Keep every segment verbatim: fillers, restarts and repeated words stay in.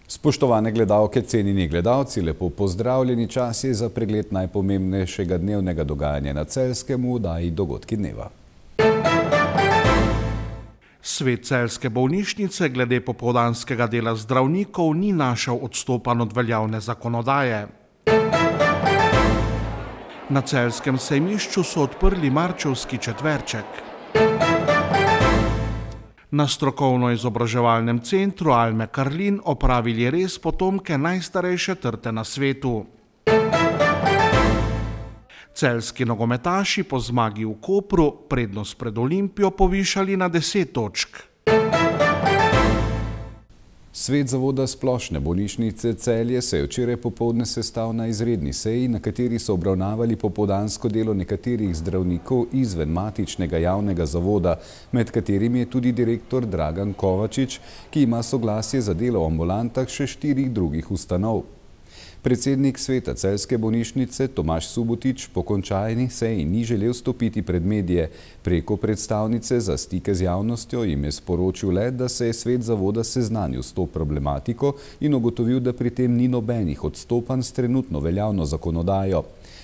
Spoštovane gledalke, cenjeni gledalci, lepo pozdravljeni. Čas je za pregled najpomembnejšega dnevnega dogajanja na Celjskem v oddaji Dogodki dneva. Svet celjske bolnišnice glede popoldanskega dela zdravnikov ni našel odstopanj od veljavne zakonodaje. Na celjskem sejmišču so odprli marčevski četverček. Na strokovno-izobraževalnem centru Alme Karlin opravili res potomke najstarejše trte na svetu. Celjski nogometaši po zmagi v Kopru prednost pred Olimpijo povišali na deset točk. Svet zavoda Splošne bolnišnice Celje se je včeraj popoldne sestal na izredni seji, na kateri so obravnavali popoldansko delo nekaterih zdravnikov izven matičnega javnega zavoda, med katerimi je tudi direktor Dragan Kovačič, ki ima soglasje za delo v ambulantah še štirih drugih ustanov. Predsednik sveta Celjske bolnišnice Tomaž Subotič po končani seji ni želel stopiti pred medije. Preko predstavnice za stike z javnostjo jim je sporočil le, da se je svet zavoda seznanil s to problematiko in ugotovil, da pri tem ni nobenih odstopanj s trenutno veljavno zakonodajo.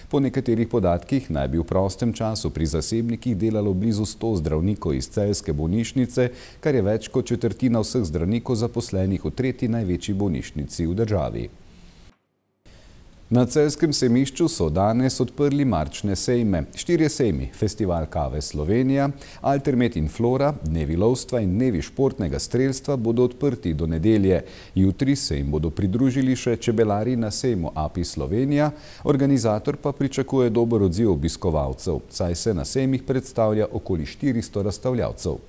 Po nekaterih podatkih naj bi v prostem času pri zasebnikih delalo blizu sto zdravnikov iz Celjske bolnišnice, kar je več kot četrtina vseh zdravnikov zaposlenih v tretji največji bolnišnici v državi. Na Celjskem sejmišču so danes odprli marčne sejme. Štirje sejmi, Festival kave Slovenija, Altermet in Flora, Dnevi lovstva in Dnevi športnega strelstva bodo odprti do nedelje. Jutri se jim bodo pridružili še čebelari na sejmu A P I Slovenija, organizator pa pričakuje dober odziv obiskovalcev, saj se na sejmih predstavlja okoli štiristo razstavljavcev.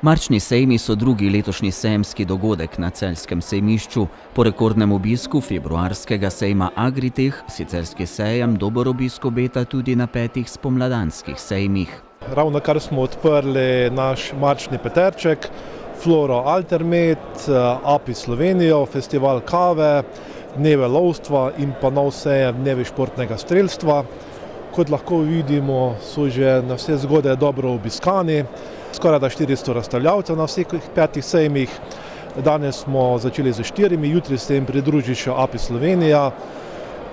Marčni sejmi so drugi letošnji sejemski dogodek na celjskem sejmišču. Po rekordnem obisku februarskega sejma Agritech si celjski sejem dober obisk obeta tudi na petih spomladanskih sejmih. Ravno kar smo odprli naš marčni peterček, Floro Altermet, A P I Slovenijo, Festival kave, Dneve lovstva in pa nov sejem Dnevi športnega strelstva. Kot lahko vidimo, so že na vse zgode dobro obiskani. Skoraj da štiristo razstavljavcev na vseh petih sejmih. Danes smo začeli z štirimi, jutri se jim pridruži še A P I Slovenija.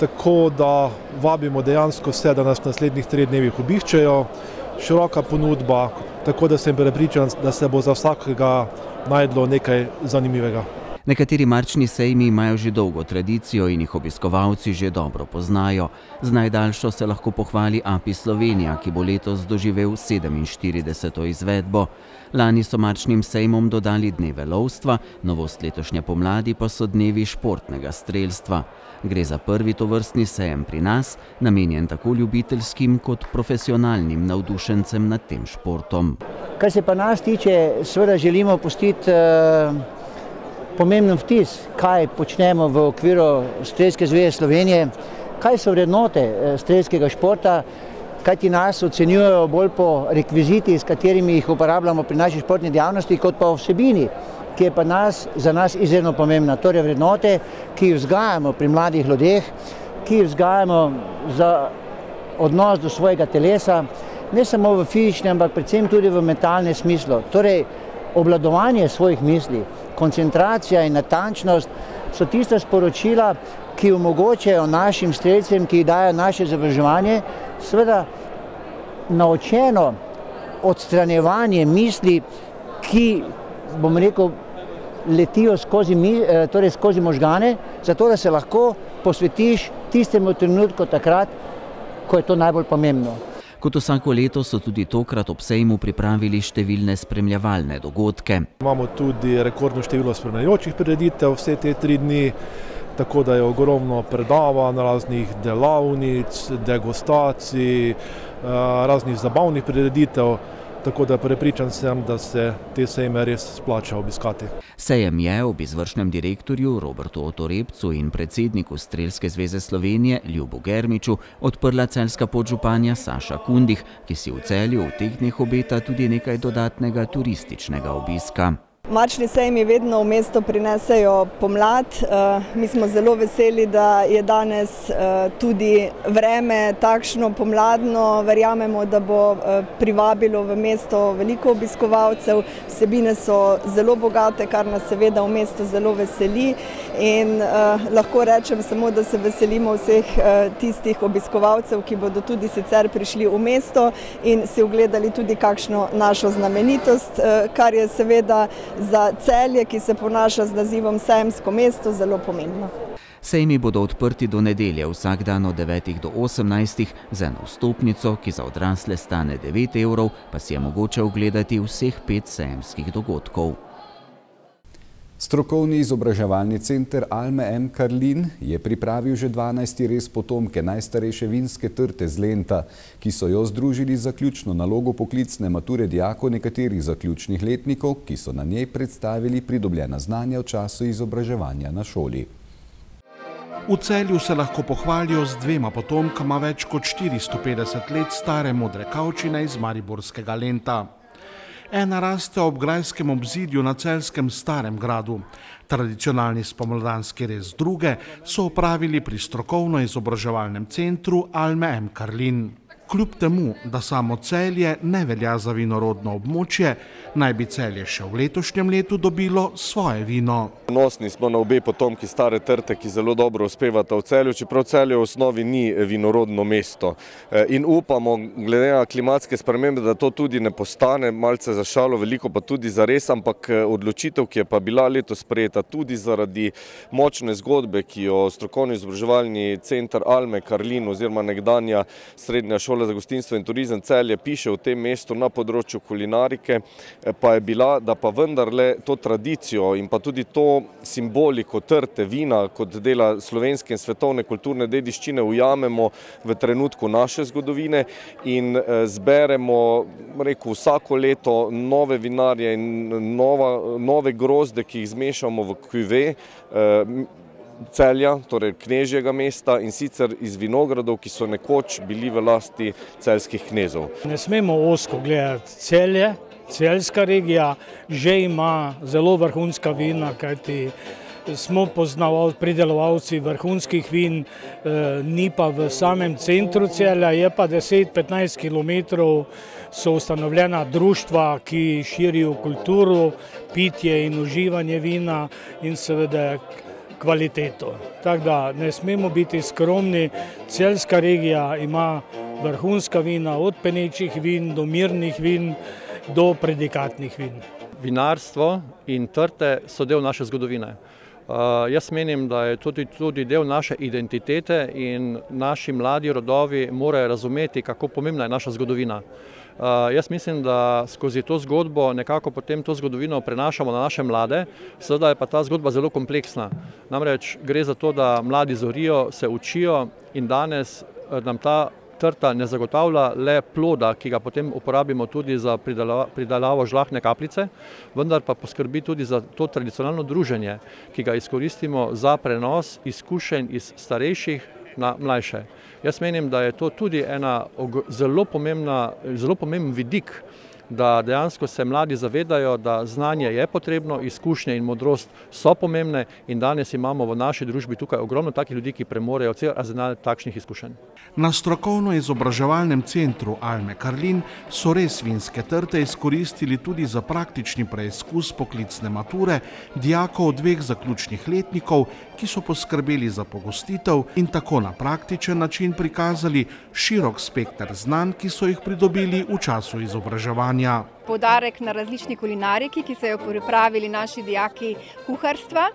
Tako da vabimo dejansko vse, da nas v naslednjih treh dnevih obiščejo. Široka ponudba, tako da sem prepričan, da se bo za vsakega najdlo nekaj zanimivega. Nekateri marčni sejmi imajo že dolgo tradicijo in jih obiskovalci že dobro poznajo. Z najdaljšo se lahko pohvali A P I Slovenija, ki bo letos doživel sedeminštirideseto izvedbo. Lani so marčnim sejmom dodali Dneve lovstva, novost letošnje pomladi pa so Dnevi športnega strelstva. Gre za prvi tovrstni sejem pri nas, namenjen tako ljubiteljskim kot profesionalnim navdušencem nad tem športom. Kar se pa nas tiče, seveda želimo pustiti uh... pomemben vtis, kaj počnemo v okviru Strelske zveze Slovenije, kaj so vrednote strelskega športa, kaj ti nas ocenjujejo bolj po rekviziti, s katerimi jih uporabljamo pri naši športni dejavnosti, kot pa vsebini, ki je pa nas, za nas izredno pomembna. Torej vrednote, ki jih vzgajamo pri mladih ljudeh, ki jih vzgajamo za odnos do svojega telesa, ne samo v fizičnem, ampak predvsem tudi v mentalnem smislu. Torej, obvladovanje svojih misli, koncentracija in natančnost so tista sporočila, ki omogočajo našim strelcem, ki jih dajo naše izobraževanje, seveda naučeno odstranjevanje misli, ki, bom rekel, letijo skozi, torej skozi možgane, zato da se lahko posvetiš tistemu trenutku takrat, ko je to najbolj pomembno. Kot vsako leto so tudi tokrat ob sejmu pripravili številne spremljevalne dogodke. Imamo tudi rekordno število spremljajočih prireditev vse te tri dni, tako da je ogromno predavanj, raznih delavnic, degustacij, raznih zabavnih prireditev, tako da prepričan sem, da se te sejme res splača obiskati. Sejem je ob izvršnem direktorju Robertu Otorebcu in predsedniku Strelske zveze Slovenije Ljubu Germiču odprla celjska podžupanja Saša Kundih, ki si v Celju v teh dneh obeta tudi nekaj dodatnega turističnega obiska. Marčni sejmi vedno v mesto prinesejo pomlad. Mi smo zelo veseli, da je danes tudi vreme takšno pomladno. Verjamemo, da bo privabilo v mesto veliko obiskovalcev. Vsebine so zelo bogate, kar nas seveda v mesto zelo veseli. In lahko rečem samo, da se veselimo vseh tistih obiskovalcev, ki bodo tudi sicer prišli v mesto in si ogledali tudi kakšno našo znamenitost, kar je seveda za Celje, ki se ponaša z nazivom Sejemsko mesto, zelo pomembno. Sejmi bodo odprti do nedelje, vsak dan od devetih do osemnajstih, z eno vstopnico, ki za odrasle stane devet evrov, pa si je mogoče ogledati vseh pet sejemskih dogodkov. Strokovni izobraževalni center Alme M. Karlin je pripravil že dvanajsti rez potomke najstarejše vinske trte z Lenta, ki so jo združili za ključno nalogo poklicne mature dijakov nekaterih zaključnih letnikov, ki so na njej predstavili pridobljena znanja v času izobraževanja na šoli. V Celju se lahko pohvalijo z dvema potomkama več kot štiristo petdeset let stare modre kavčine iz mariborskega Lenta. Ena raste ob grajskem obzidju na celjskem Starem gradu. Tradicionalni spomladanski rez druge so opravili pri strokovno-izobraževalnem centru Alme M. Karlin. Kljub temu, da samo Celje ne velja za vinorodno območje, naj bi Celje še v letošnjem letu dobilo svoje vino. Ponosni smo na obe potomki stare trte, ki zelo dobro uspevata v Celju, čeprav Celje v osnovi ni vinorodno mesto. In upamo, glede na klimatske spremembe, da to tudi ne postane, malce za šalo, veliko pa tudi za res, ampak odločitev, ki je pa bila letos sprejeta tudi zaradi močne zgodbe, ki jo strokovno-izobraževalni center Alme Karlin oziroma nekdanja srednja šola za gostinstvo in turizem Celje piše v tem mestu na področju kulinarike, pa je bila, da pa vendarle to tradicijo in pa tudi to simboliko trte vina kot dela slovenske in svetovne kulturne dediščine ujamemo v trenutku naše zgodovine in zberemo, rekel, vsako leto nove vinarje in nova, nove grozde, ki jih zmešamo v kuve Celja, torej knežjega mesta, in sicer iz vinogradov, ki so nekoč bili v lasti celjskih knezov. Ne smemo ozko gledati Celje, celjska regija že ima zelo vrhunska vina, kajti smo poznavalci, pridelovalci vrhunskih vin, ni pa v samem centru Celja, je pa deset do petnajst kilometrov so ustanovljena društva, ki širijo kulturo, pitje in uživanje vina in seveda kvaliteto. Tako da ne smemo biti skromni, celjska regija ima vrhunska vina, od penečih vin do mirnih vin do predikatnih vin. Vinarstvo in trte so del naše zgodovine. Uh, jaz menim, da je tudi, tudi del naše identitete in naši mladi rodovi morajo razumeti, kako pomembna je naša zgodovina. Uh, jaz mislim, da skozi to zgodbo nekako potem to zgodovino prenašamo na naše mlade, seveda je pa ta zgodba zelo kompleksna. Namreč gre za to, da mladi zorijo, se učijo in danes nam ta trta ne zagotavlja le ploda, ki ga potem uporabimo tudi za pridelavo žlahtne kapljice, vendar pa poskrbi tudi za to tradicionalno druženje, ki ga izkoristimo za prenos izkušenj iz starejših na mlajše. Jaz menim, da je to tudi ena zelo pomembna, zelo pomemben vidik, da dejansko se mladi zavedajo, da znanje je potrebno, izkušnje in modrost so pomembne in danes imamo v naši družbi tukaj ogromno takih ljudi, ki premorejo cel arzenal takšnih izkušenj. Na strokovno-izobraževalnem centru Alme Karlin so res vinske trte izkoristili tudi za praktični preizkus poklicne mature dijakov dveh zaključnih letnikov, ki so poskrbeli za pogostitev in tako na praktičen način prikazali širok spekter znanj, ki so jih pridobili v času izobraževanja. Poudarek na različni kulinariki, ki so jo pripravili naši dijaki kuharstva,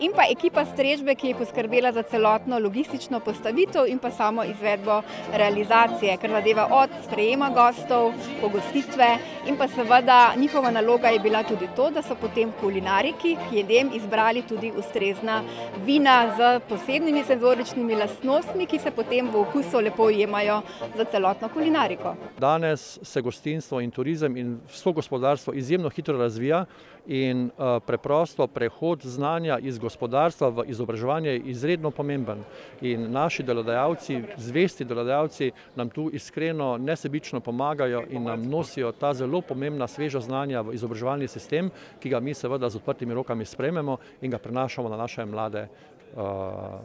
in pa ekipa strežbe, ki je poskrbela za celotno logistično postavitev in pa samo izvedbo realizacije, kar zadeva od sprejema gostov, pogostitve in pa seveda njihova naloga je bila tudi to, da so potem kulinariki k jedem izbrali tudi ustrezna vina z posebnimi senzoričnimi lastnostmi, ki se potem v okusu lepo ujemajo za celotno kulinariko. Danes se gostinstvo in turizem in slovensko gospodarstvo izjemno hitro razvija in preprosto prehod znanja iz gospodarstva v izobraževanje je izredno pomemben. In naši delodajalci, zvesti delodajalci nam tu iskreno nesebično pomagajo in nam nosijo ta zelo pomembna sveža znanja v izobraževalni sistem, ki ga mi seveda z odprtimi rokami sprejmemo in ga prenašamo na naše mlade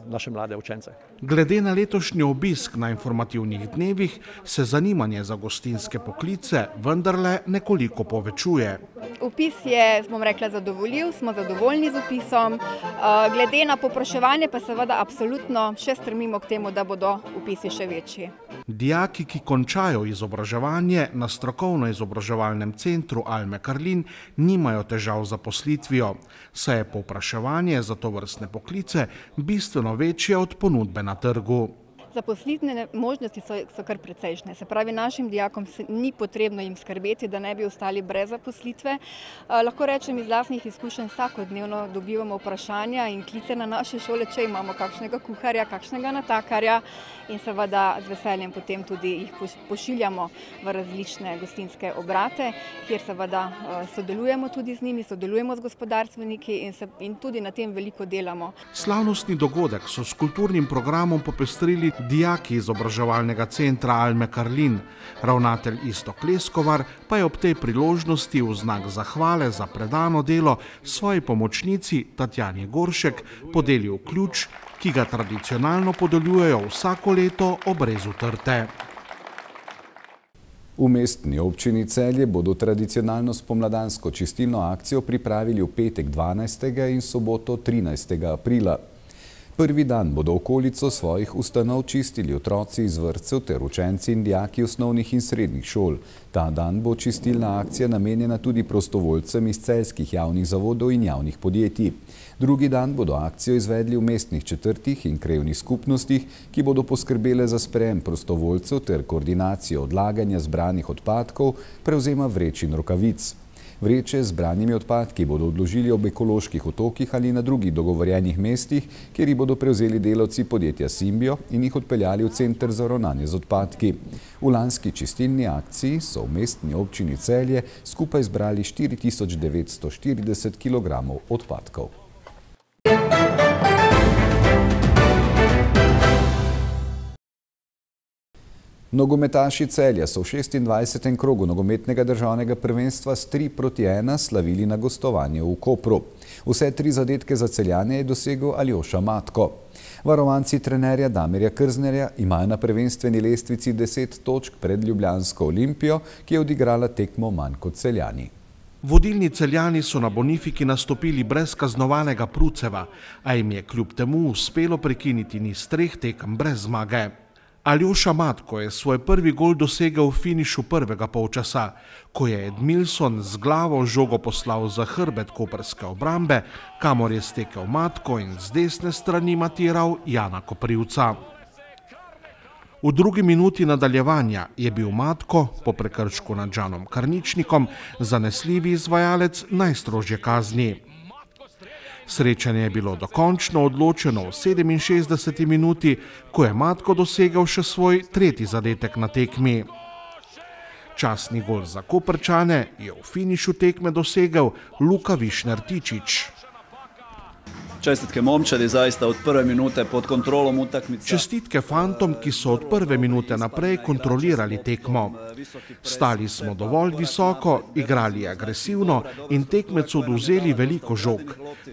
naše mlade učence. Glede na letošnji obisk na informativnih dnevih se zanimanje za gostinske poklice vendarle nekoliko povečuje. Vpis je, bom rekla, zadovoljiv, smo zadovoljni z vpisom. Glede na povpraševanje pa seveda absolutno še stremimo k temu, da bodo vpisi še večji. Dijaki, ki končajo izobraževanje na strokovno-izobraževalnem centru Alme Karlin, nimajo težav z zaposlitvijo, saj je povpraševanje za tovrstne poklice bistveno večje od ponudbe na trgu. Zaposlitvene možnosti so, so kar precejšnje. Se pravi, našim dijakom se ni potrebno jim skrbeti, da ne bi ostali brez zaposlitve. Eh, lahko rečem, iz lastnih izkušenj vsakodnevno dobivamo vprašanja in klice na naše šole, če imamo kakšnega kuharja, kakšnega natakarja in seveda z veseljem potem tudi jih pošiljamo v različne gostinske obrate, kjer seveda eh, sodelujemo tudi z njimi, sodelujemo z gospodarstveniki in, se, in tudi na tem veliko delamo. Slavnostni dogodek so s kulturnim programom popestrili dijaki izobraževalnega centra Alme Karlin. Ravnatelj Iztok Leskovar pa je ob tej priložnosti v znak zahvale za predano delo svoji pomočnici Tatjani Goršek podelil ključ, ki ga tradicionalno podeljujejo vsako leto ob rezu trte. V mestni občini Celje bodo tradicionalno spomladansko čistilno akcijo pripravili v petek dvanajstega in soboto trinajstega aprila. Prvi dan bodo okolico svojih ustanov čistili otroci iz vrtcev ter učenci in dijaki osnovnih in srednjih šol. Ta dan bo čistilna akcija namenjena tudi prostovoljcem iz celjskih javnih zavodov in javnih podjetij. Drugi dan bodo akcijo izvedli v mestnih četrtih in krajevnih skupnostih, ki bodo poskrbele za sprejem prostovoljcev ter koordinacijo odlaganja zbranih odpadkov, prevzema vreč in rokavic. Vreče z zbranimi odpadki bodo odložili ob ekoloških otokih ali na drugih dogovorjenih mestih, kjer jih bodo prevzeli delavci podjetja Simbio in jih odpeljali v center za ravnanje z odpadki. V lanski čistilni akciji so v mestni občini Celje skupaj zbrali štiri tisoč devetsto štirideset kilogramov odpadkov. Nogometaši Celja so v šestindvajsetem krogu nogometnega državnega prvenstva s tri proti ena slavili na gostovanju v Kopru. Vse tri zadetke za Celjane je dosegel Aljoša Matko. Varovanci trenerja Damirja Krznerja imajo na prvenstveni lestvici deset točk pred ljubljansko Olimpijo, ki je odigrala tekmo manj kot Celjani. Vodilni Celjani so na Bonifiki nastopili brez kaznovanega Pruceva, a jim je kljub temu uspelo prekiniti niz treh tekem brez zmage. Aljoša Matko je svoj prvi gol dosegel v finišu prvega polčasa, ko je Edmilson z glavo žogo poslal za hrbet koprske obrambe, kamor je stekel Matko in z desne strani matiral Jana Koprivca. V drugi minuti nadaljevanja je bil Matko, po prekršku nad Žanom Karničnikom, zanesljivi izvajalec najstrožje kazni. Srečanje je bilo dokončno odločeno v sedeminšestdeseti minuti, ko je Matko dosegel še svoj tretji zadetek na tekmi. Častni gol za Koprčane je v finišu tekme dosegel Luka Višner-Tičić. Čestitke momčadi, zaista od prve minute pod kontrolom utakmica. Čestitke fantom, ki so od prve minute naprej kontrolirali tekmo. Stali smo dovolj visoko, igrali agresivno in tekmecu odvzeli veliko žog.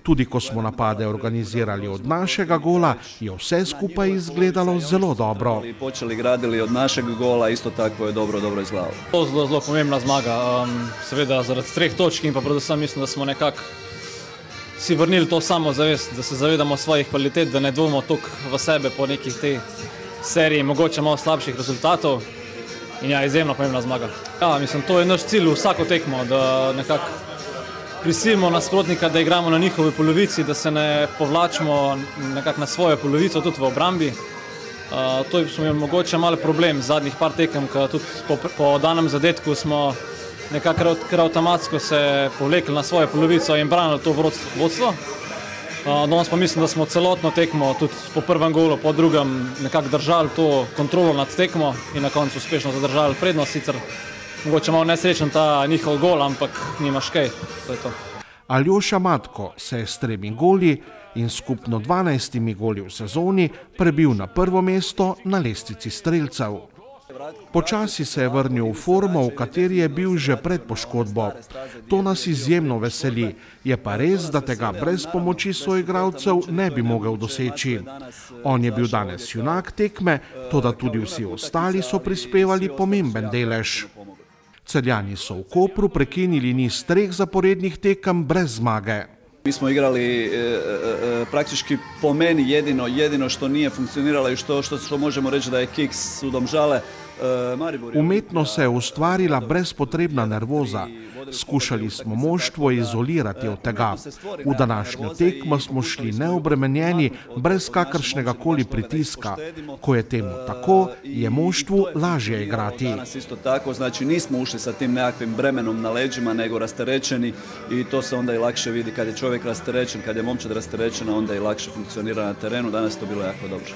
Tudi ko smo napade organizirali od našega gola, je vse skupaj izgledalo zelo dobro. Počeli gradili od našega gola, isto tako je dobro, dobro izgledalo. Zelo, zelo pomembna zmaga. Um, seveda zaradi treh točk in pa predvsem mislim, da smo nekako si vrnili to samozavest, da se zavedamo svojih kvalitet, da ne dvomimo toliko v sebe po nekih tej seriji, mogoče malo slabših rezultatov. In ja, izjemno pomembna zmaga. Ja, mislim, to je naš cilj vsako tekmo, da nekako prisilimo nasprotnika, da igramo na njihovi polovici, da se ne povlačimo nekako na svojo polovico, tudi v obrambi. Uh, to je smo mogoče malo problem zadnjih par tekem, ker tudi po, po danem zadetku smo nekako kar avtomatsko se povlekli na svojo polovico in branili to vodstvo. Danes pa mislim, da smo celotno tekmo, tudi po prvem golu, po drugem, nekako držali to kontrolo nad tekmo in na koncu uspešno zadržali prednost. Sicer mogoče malo nesrečen ta njihov gol, ampak nimaš kaj. To je to. Aljoša Matko se je s tremi goli in skupno dvanajstimi goli v sezoni prebil na prvo mesto na lestvici strelcev. Počasi se je vrnil v formo, v kateri je bil že pred poškodbo. To nas izjemno veseli, je pa res, da tega brez pomoči soigralcev ne bi mogel doseči. On je bil danes junak tekme, toda tudi vsi ostali so prispevali pomemben delež. Celjani so v Kopru prekinili niz treh zaporednih tekem brez zmage. Mi smo igrali e, e, praktički po meni jedino, jedino što nije funkcioniralo i što, što, što možemo reći da je kiks u Domžale. E, Umetno se je ustvarila brezpotrebna nervoza. Skušali smo moštvo izolirati od tega. V današnjo tekmo smo šli neobremenjeni, brez kakršnega koli pritiska. Ko je temu tako, je moštvu lažje igrati. Danas isto tako, znači nismo ušli sa tim nekakvim bremenom na leđima, nego rasterećeni i to se onda i lakše vidi. Kad je čovjek rasterećen, kad je momčad rasterećena, onda i lakše funkcionira na terenu. Danas to bilo jako dobro.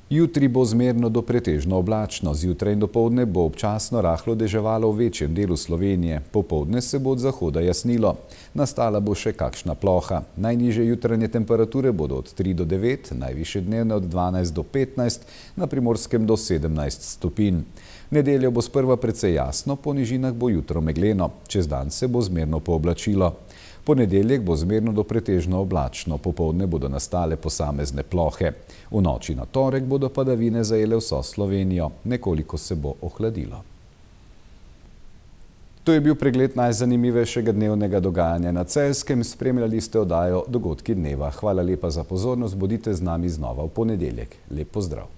Jutri bo zmerno do pretežno oblačno, zjutraj in dopoldne bo občasno rahlo deževalo v večjem delu Slovenije. Popoldne se bo od zahoda jasnilo. Nastala bo še kakšna ploha. Najnižje jutranje temperature bodo od tri do devet, najvišje dnevne od dvanajst do petnajst, na Primorskem do sedemnajst stopinj. V nedeljo bo sprva precej jasno, po nižinah bo jutro megleno. Čez dan se bo zmerno pooblačilo. Ponedeljek bo zmerno do pretežno oblačno, popoldne bodo nastale posamezne plohe. V noči na torek bodo padavine zajele vso Slovenijo, nekoliko se bo ohladilo. To je bil pregled najzanimivejšega dnevnega dogajanja na Celjskem. Spremljali ste oddajo Dogodki dneva. Hvala lepa za pozornost, bodite z nami znova v ponedeljek. Lep pozdrav.